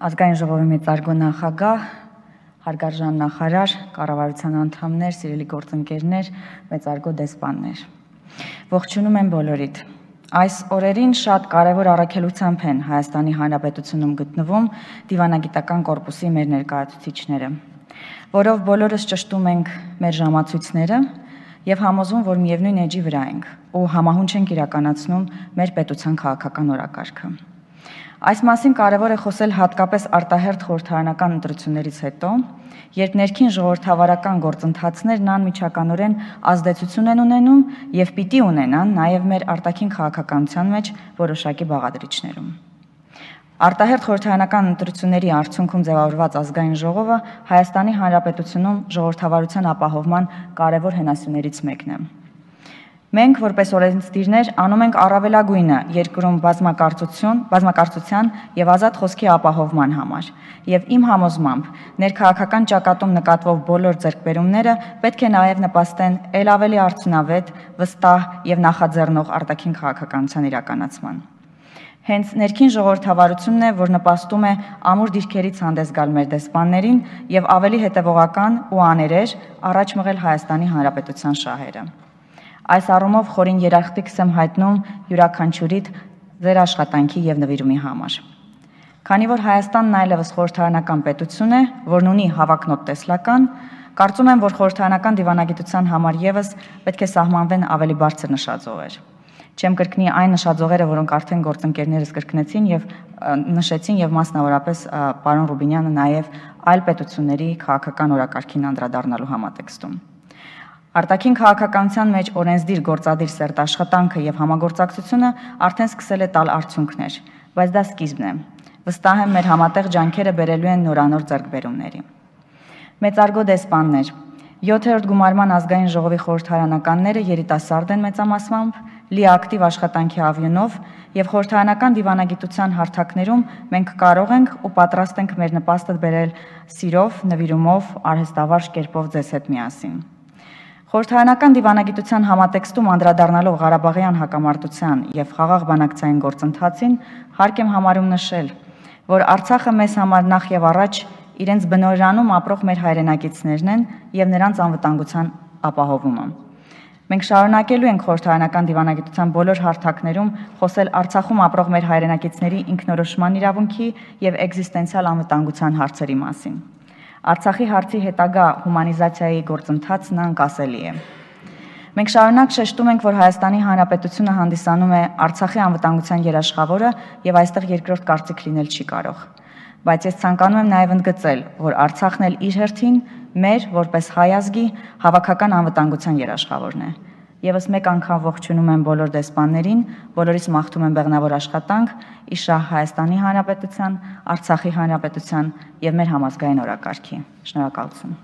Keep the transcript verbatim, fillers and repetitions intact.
Ազգային ժողովի մեծարգո նախագահ, հարգարժան նախարար, կառավարության անդամներ, սիրելի գործընկերներ, մեծարգո դեսպաններ։ Ողջունում եմ բոլորիդ։ Այս օրերին շատ կարևոր առաքելությամբ են Հայաստանի Հանրապետությունում գտնվում դիվանագիտական կորպուսի մեր ներկայացուցիչները, որով բոլորս ճշտում ենք մեր ժամացույցները եւ համոզում, որ միևնույն էջի վրա ենք ու համահունչ ենք իրականացնում մեր պետության քաղաքական օրակարգը։ Այս մասին կարևոր է խոսել հատկապես արտահերթ խորհրդարանական ընտրություններից հետո, երբ ներքին ժողովրդավարական գործընթացներն անմիջականորեն ազդեցություն են ունենում եւ պիտի ունենան նաեւ մեր արտաքին քաղաքականության մեջ որոշակի բաղադրիչներում։ Արտահերթ խորհրդարանական ընտրությունների արդյունքում ձևավորված ազգային ժողովը Հայաստանի Հանրապետությունում ժողովրդավարության ապահովման կարևոր հենասյուներից մեկն է։ Մենք, որպես օրենսդիրներ, անում ենք առավելագույնը երկրում բազմակարծություն, բազմակարծության եւ ազատ խոսքի ապահովման համար, եւ իմ համոզմամբ ներքաղաքական ճակատում նկատվող բոլոր ձեռքբերումները պետք է նաեւ նպաստեն ել ավելի արդյունավետ, վստահ եւ նախաձեռնող արտաքին քաղաքականության իրականացման։ Հենց ներքին ժողովրդավարությունն է, որ նպաստում է ամուր դիրքերից հանդես գալ մեր դեսպաններին եւ ավելի հետեւողական ու աներեր առաջ մղել Հայաստանի Հանրապետության շահերը։ Այս առումով խորին երախտիկս եմ հայտնում յուրաքանչյուրիդ ձեր աշխատանքի եւ նվիրումի համար։ Քանի որ Հայաստանն այլևս խորհրդարանական պետություն է, որն ունի հավակնոտ տեսլական, կարծում եմ, որ խորհրդարանական դիվանագիտության համար եւս պետք է սահմանվեն ավելի բարձր նշաձողեր։ Չեմ կրկնի այն նշաձողերը, որոնք արդեն գործընկերներս կրկնեցին եւ նշեցին եւ մասնավորապես պարոն Ռուբինյանը նաեւ այլ պետությունների քաղաքական օրակարգին անդրադառնալու համատեքստում։ Արտաքին քաղաքականության մեջ օրենսդիր գործադիր սերտ աշխատանքը եւ համագործակցությունը արդեն սկսել է տալ արդյունքներ, բայց դա սկիզբն է։ Վստահ եմ, մեր համատեղ ջանքերը բերելու են նորանոր ձեռքբերումների։ Մեծարգո դեսպաններ, յոթերորդ գումարման ազգային ժողովի խորհրդարանականները երիտասարդ են մեծամասամբ, լիակտիվ աշխատանքի ավյունով եւ խորհրդարանական դիվանագիտության հարթակներում մենք կարող ենք ու պատրաստ ենք մեր նպաստը բերել սիրով, նվիրումով, արհեստավարժ կերպով ձեզ հետ միասին։ Խորհրդարանական դիվանագիտության համատեքստում անդրադառնալով Ղարաբաղյան հակամարտության եւ խաղաղ բանակցային գործընթացին հարկ եմ համարում նշել, որ Արցախը մեզ համար նախ եւ առաջ իրենց բնօրանում ապրող մեր հայրենակիցներն են եւ նրանց անվտանգության ապահովումը։ Մենք շարունակելու ենք խորհրդարանական դիվանագիտության բոլոր հարթակներում խոսել Արցախում ապրող մեր հայրենակիցների ինքնորոշման իրավունքի եւ էկզիստենցիալ անվտանգության հարցերի մասին։ Արցախի հարցի հետագա հումանիզացիայի գործընթացն անկասելի է։ Մենք շարունակ շեշտում ենք, որ Հայաստանի Հանրապետությունը հանդիսանում է Արցախի անվտանգության երաշխավորը եւ այստեղ երկրորդ կարծիք լինել չի կարող։ Բայց ես ցանկանում եմ նաեւ ընդգծել, որ Արցախն էլ իր հերթին մեր, որպես հայ ազգի, հավաքական անվտանգության երաշխավորն է։ Եվս մեկ անգամ ողջունում եմ բոլոր դեսպաններին, բոլորիս մաղթում եմ բեղնավոր աշխատանք ի շահ Հայաստանի Հանրապետության, Արցախի Հանրապետության եւ մեր համազգային օրակարգի։ Շնորհակալություն։